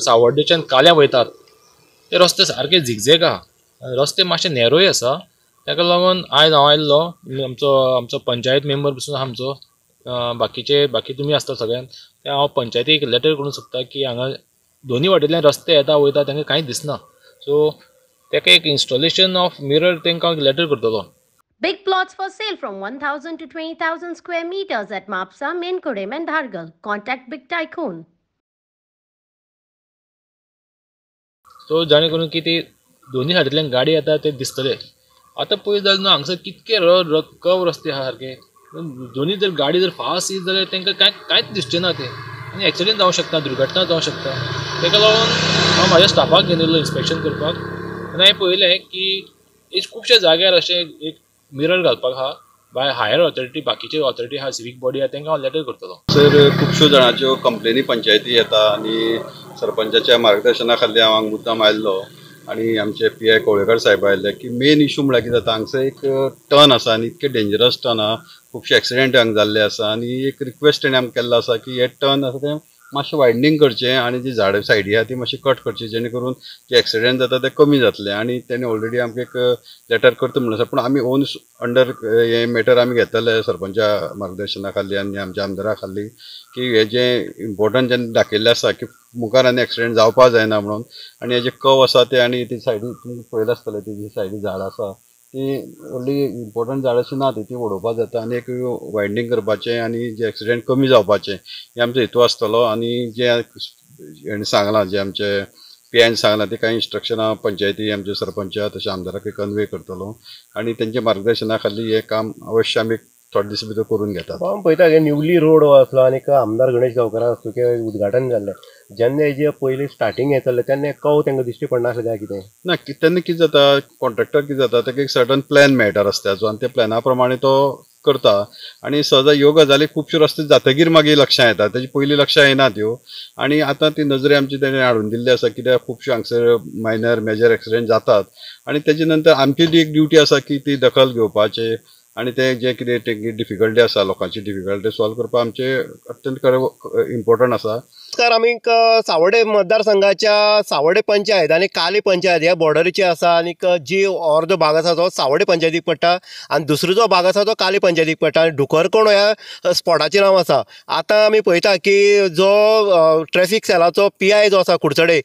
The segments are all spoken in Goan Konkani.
सावर्डेच्यान काल्या वयतात ते रस्ते सारके झिगझॅग आहा, रस्ते मातशे नॅरोय आसा. ताका लागून आयज हांव आयिल्लो, आमचो आमचो पंचायत मेंबर पसून आमचो बाकीचे बाकी तुमी आसता सगळ्यांक, ते हांव पंचायतीक लेटर करूंक सोदता की हांगा दोनी वाटेंतल्यान रस्ते येता वयता तांकां कांयच दिसना. सो ताका एक इन्स्टॉलेशन ऑफ मिरर तांकां हांव लेटर करतलो. Big plots for sale from 1,000 to 20,000 square meters at Mapsa, Menkodem and Dhargal. Contact Big Tycoon. So जाणे करून की ती दोन्ही सायडींतल्यान गाडी येता ते दिसतले. आतां पळयत जाल्यार न्हू हांगसर कितके कव रस्ते आहा सारके, दोन्ही जर गाडी जर फास्ट येत जाल्यार तांकां कांय कांयच दिसचें ना तें, आनी एक्सिडंट जावंक शकता, दुर्घटना जावंक शकता. ताका लागून हांव म्हाज्या स्टाफाक घेवन येयल्लो इन्स्पेक्शन करपाक, आनी हांवें पळयलें की खुबश्या जाग्यार अशें एक मिरर घालपाक आहा बाय हायर ऑथॉरिटी, बाकीचे ऑथॉरिटी आहा, सिवीक बॉडी आहा, तांकां हांव लेटर करतलो. सर खुबश्यो जाणांच्यो कंप्लेनी पंचायती येता आनी सरपंचाच्या मार्गदर्शना खाली हांव हांगा मुद्दाम आयिल्लो आनी आमचे पी I Kavlekar साहेब आयिल्ले की मेन इशू म्हळ्यार कितें जाता, हांगसर एक टर्न आसा आनी इतके डेंजरस टर्न आहा, खुबशे एक्सिडेंट हांगा जाल्ले आसा आनी एक रिक्वेस्ट तेणी आमकां केल्लो आसा की हे टर्न आसा तें मातशें वायडनींग करचें आनी जी झाडां सायडी आहा ती मातशी कट करची, जेणे करून जे एक्सिडेंट जाता ते कमी जातले. आनी तेणी ऑलरेडी आमकां एक लेटर करता म्हणून आसा, पूण आमी ओन अंडर हे मॅटर आमी घेतले सरपंचा मार्गदर्शना खाली आनी आमच्या आमदारा खाली की हे जे इम्पोर्टंट जेन्ना दाखयल्लें आसा की मुखार आनी एक्सिडेंट जावपाक जायना म्हणून. आनी हे जे कव आसा ते आनी ती सायडी तुमकां पळयलें आसतलें, ती जी सायडी झाडां आसा ती व्हडली इम्पोर्टंट झाडां अशी ना, ती उडोवपाक जाता आनी एक वायडनींग करपाचें आनी जे एक्सिडेंट कमी जावपाचें हें आमचो हेतू आसतलो. आनी जे हेणें सांगलां, जे आमचे पी आयन सांगलां ते कांय इन्स्ट्रक्शनां पंचायती आमचे सरपंच तशें आमदाराक कन्वे करतलो आनी तेंच्या मार्गदर्शना खाली हें काम अवश्य आमी थोडे दीस भितर करून घेतात. हांव पळयता की न्यूली रोड हो आसलो आनी आमदार गणेश गांवकारा हस्तुकीं उद्घाटन जाल्लें, जेन्ना हेजे पयलीं स्टार्टींग हें चल्लें तेन्ना कव तांकां दिश्टी पडनासलें काय कितें ना? तेन्ना कितें जाता, कॉन्ट्रॅक्टर कितें जाता, ताका एक सर्टन प्लॅन मेळटा रस्त्याचो आनी त्या प्लॅना प्रमाणे तो करता आनी सहजा ह्यो गजाली खुबश्यो रस्ते जातगीर मागीर लक्षां येता, तेजे पयलीं लक्षां येना त्यो. आनी आतां ती नजरे आमची तेणें हाडून दिल्ली आसा कित्याक खुबश्यो हांगसर मायनर मेजर एक्सिडेंट जातात आनी तेजे नंतर आमची ती एक ड्युटी आसा की ती दखल घेवपाची आनी ते जे कितें डिफिकल्टी आसा लोकांची डिफिकल्टी सॉल्व करपाक आमचे अत्यंत इम्पोर्टंट आसा. नमस्कार, आमी सावर्डे मतदारसंघाच्या सावर्डे पंचायत आनी काली पंचायत ह्या बॉर्डरीचे आसा आनी जी अर्दो भाग आसा तो सावर्डे पंचायतीक पडटा आनी दुसरो जो भाग आसा तो काली पंचायतीक पडटा आनी ढुकरकोण ह्या स्पॉटाचें नांव आसा. आतां आमी पळयता की जो ट्रॅफिक सेलाचो पी I जो आसा कुडचडे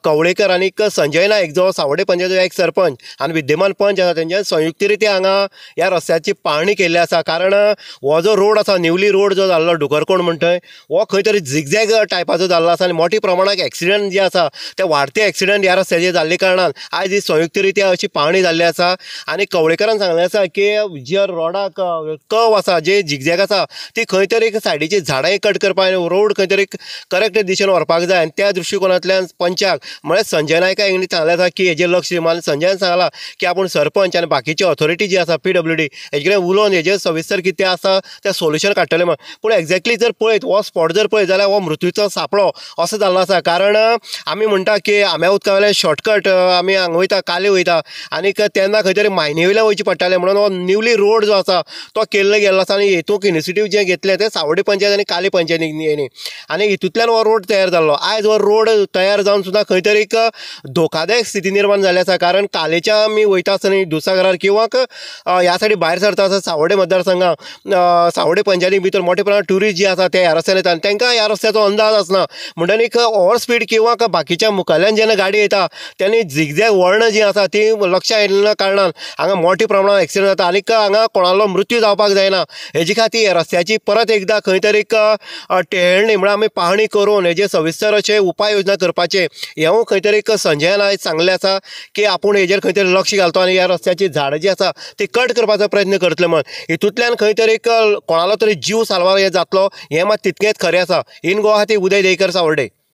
कवळेकर आनी संजय नायक जो सावर्डे पंचायतीचो एक सरपंच आनी विद्यमान पंच आसा तेंच्या संयुक्तरित्या हांगा ह्या रस्त्याची पाहणी केल्ली आसा. कारण हो जो रोड आसा न्यूली रोड जो जाल्लो ढुकरकोण म्हणटा हो खंय तरी झिगझॅग टायपाचो जाल्लो आसा आनी मोठ्या प्रमाणात एक्सिडंट जे आसा ते वाडते एक्सिडंट ह्या रस्त्याचेर जाल्ले कारणान आयज ही संयुक्तरित्या अशी पाहणी जाल्ली आसा. आनी कवळेकरान सांगलें आसा की जे रोडाक कव आसा जे झिगझॅग आसा ती खंय तरी सायडीची झाडां कट करपाक आनी रोड खंय तरी करेक्ट दिशेन व्हरपाक जाय आनी त्या दृश्टिकोनांतल्यान पंचाक म्हळ्यार संजय नायका हांणी सांगलें आसा की हेजेर लक्ष दिवन संजयान सांगलां की आपूण सरपंच आनी बाकीची ऑथॉरिटी जी आसा पी डब्ल्यू डी हेजे कडेन उलोवन हेजेर सविस्तर कितें आसा तें सोल्युशन काडटलें म्हण. पूण एक्झॅक्टली जर पळयत हो स्पॉट जर पळयत जाल्यार हो मृत्यूचो सापळो असो जाल्लो आसा. कारण आमी म्हणटा की आंब्या उदका वयल्यान शॉर्टकट आमी हांगा वयता काले वयता आनी तेन्ना खंय तरी मायनी वयल्यान वयचें पडटालें म्हणून हो न्यूली रोड जो आसा तो केल्लो गेल्लो आसा आनी हेतूंक इनिशिएटीव जें घेतलें तें सावर्डे पंचायत आनी काले पंचायतीन आनी हितूंतल्यान हो रोड तयार जाल्लो. आयज हो रोड तयार जावन सुद्दां खंय तरी एक धोकादायक स्थिती निर्माण जाल्ली आसा. कारण कालेच्या आमी वयता आसतना दुधसागरार किंवां ह्या सायडी भायर सरता आसतना सावर्डे मतदारसंघात सावर्डे पंचायती भितर मोठ्या प्रमाणात ट्युरिस्ट जे आसा ते ह्या रस्त्यान येता आनी तांकां ह्या रस्त्याचो अंदाज आसना म्हणटन एक ओवर स्पीड किंवा बाकीच्या मुखाल्यान जेन्ना गाडी येता तेन्ना झिगझॅग वळणां जीं आसा तीं लक्षां येयल्ल्या कारणान हांगा मोठ्या प्रमाणात एक्सिडंट जाता आनी हांगा कोणालो मृत्यू जावपाक जायना हेजे खातीर रस्त्याची परत एकदां खंय तरी एक टेळणी म्हळ्यार आमी पाहणी करून हेजे सविस्तर अशे उपाय योजना करपाचे हेंवूय खंय तरी एक संजयान आयज सांगलें आसा की आपूण हेजेर खंय तरी लक्ष घालतो आनी ह्या रस्त्याची झाडां जी आसा ती कट करपाचो प्रयत्न करतले म्हण हितूंतल्यान खंय तरी एक कोणालो तरी जीव साल्वार हे जातलो हें मात तितकेंच खरें आसा. इन गोवा खातीर उदय देयकर, सावर्डे.